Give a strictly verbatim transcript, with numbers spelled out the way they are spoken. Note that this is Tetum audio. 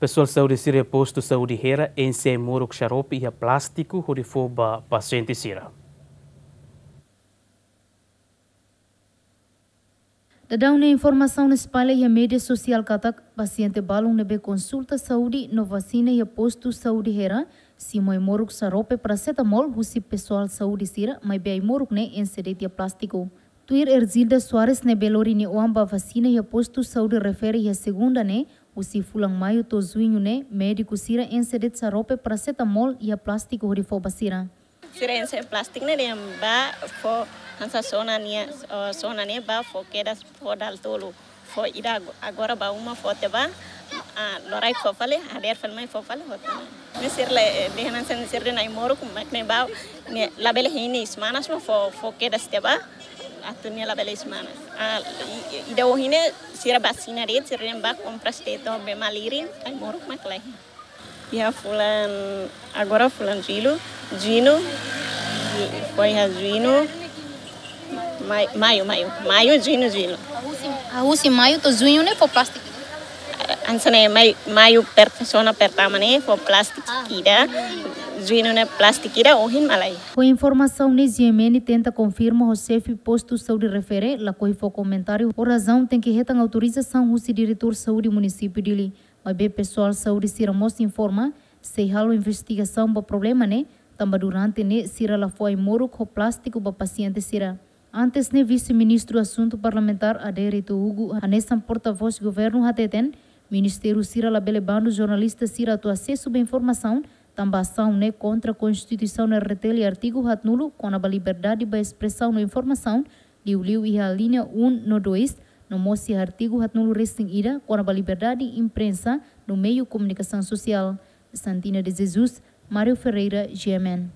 Pesoál saúde sira iha postu saúde Hera enxe ai-moruk xarope iha plástiku hodi fó ba pasiente sira. Daudaun ne'e informasaun espalla iha média sosiál katak pasiente balun ne'ebé konsulta saúde no vasina iha postu saúde Hera simu ai-moruk xarope paracetamol husi pesoál saúde sira, maibé ai-moruk ne'e enxe de'it iha plástiku. Tuir Erzilda Soares ne'ebé lori nia oan ba vasina iha postu saúde refere iha segunda ne'e, husi fulan maiu to'o juñu ne'e, médiku sira enxe de'it xarope paracetamol iha plástiku hodi fó ba sira. Sira enxe plástiku ne'e dehan ba fó hanesan sona nia, eh, sona ne'e ba fó kedas fó dala tolu. Fó ida ago-, agora ba uma fó tiha ba, ah, loraik fó fali, hadeer fali mai fó fali hotu. Ne'e sira la, eh, dehan hanesan sira dehan ai-moruk mak ne'e ba, ne'e labele hein iis manas mak fó, fó kedas tiha ba, atu nia labele iis manas. Ah, i-, i-, ida ohin ne'e sira vasina de'it, sira dehan ba kompras de'it to'o bee malirin, ai-moruk mak la hein. Iha fulan, agora fulan jullu, juñu, ju-, fó iha juñu, mai-, maiu, maiu, maiu, juñu, jullu. Husi, ah, husi maiu to'o juñu ne'e fó plástiku? Hanesan ne'e mai-, maiu per-, sona pertama ne'e fó plástiku ida, juñu ne'e plástiku ida, ohin mak la hein. Ho informasaun ne'e, G M N tenta konfirma ho xefe postu saúde refere, lakohi fó komentáriu ho razaun tenke hetan autorizasaun husi diretór saúde munisípiu Dili. Maibé pesoál saúde sira mós informa, sei halo investigasaun ba problema ne'e, tanba durante ne'e sira la fó ai-moruk ho plástiku ba pasiente sira. Antes ne'e, Vise-Ministru Asuntu Parlamentár Adérito Hugo, hanesan portavós governu hateten, ministériu sira labele bandu jornalista sira atu asesu ba informasaun, tanba asaun ne'e kontra Konstituisaun R D T L iha artigu haatnulu, kona-ba liberdade ba espresaun no informasaun, liuliu iha alínea um no dois, no mós iha artigu haatnulu resin ida, kona-ba liberdade imprensa no meiu komunikasaun sosiál. Santina de Jesus, Mário Ferreira, G M N.